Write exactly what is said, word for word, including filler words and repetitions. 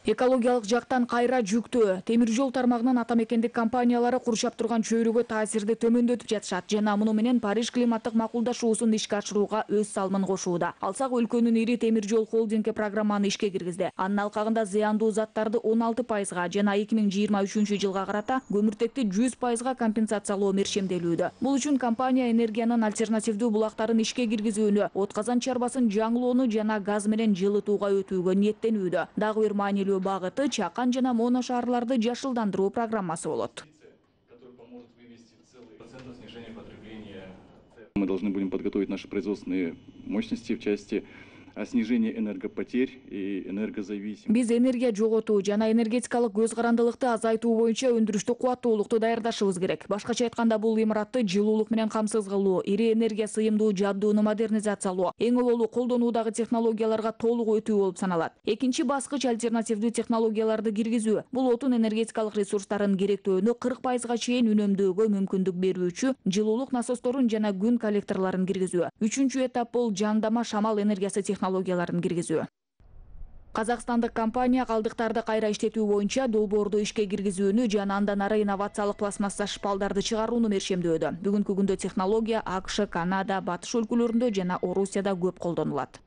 Экологиялык жактан кайра жүктөө. Темир жол тармагынын ата мекендик компаниялары курчап турган чөйрөгө таасирди төмөндөтүп жатышат жана муну менен Париж климаттык макулдашуусун ишке ашырууга өз салымын кошууда. Алсак өлкөнүн ири темир жол холдинги программаны ишке киргизди. Анын алкагында зыяндуу заттарды он алты пайызга жана эки миң жыйырма үчүнчү жылга карата көмүртекти жүз пайызга компенсациялоо мерчемделүүдө. Бул үчүн компания энергиянын альтернативдүү булактарын ишке киргизүүнү, отказан чарбасын жаңылоону жана газ менен жылытууга өтүүгө ниеттенүүдө. Дагы бир маанилүү багыты Чакан жана Моно шаарларды жашылдандыруу программасы болот. Мы должны будем подготовить наши производственные мощности в части снижения энергопотерь и энергозависимости. Биз энергия жоготуу жана энергетикалык көз карандылыкты азайтуу боюнча өндүрүштүк кубаттуулукту даярдашыбыз керек. Башкача айтканда, бул имаратты жылуулук менен камсыз кылуу, ири энергия сыйымдуу жабдууну модернизациялоо, эң ололу колдонуудагы технологияларга толук өтүү болуп саналат. Экинчи баскыч альтернативдүү технологияларды киргизүү. Бул отун энергетикалык ресурстарын керектөөнү кырк пайызга чейин үнөмдөөгө мүмкүндүк берүүчү жылуулук насосторун жана күн коллекторлорун киргизүү. Үчүнчү этап бул жандама шамал энергиясы технологияларын киргизүү. Казакстандык компания калдыктарды кайра иштетүү боюнча долбоорду ишке киргизүүнү жана андан ары инновациялык пластмасса шпалдарды чыгарууну мерчемдөөдө. Бүгүнкү күндө технология АКШ, Канада, Батыш өлкөлөрүндө жана Орусияда көп колдонулат.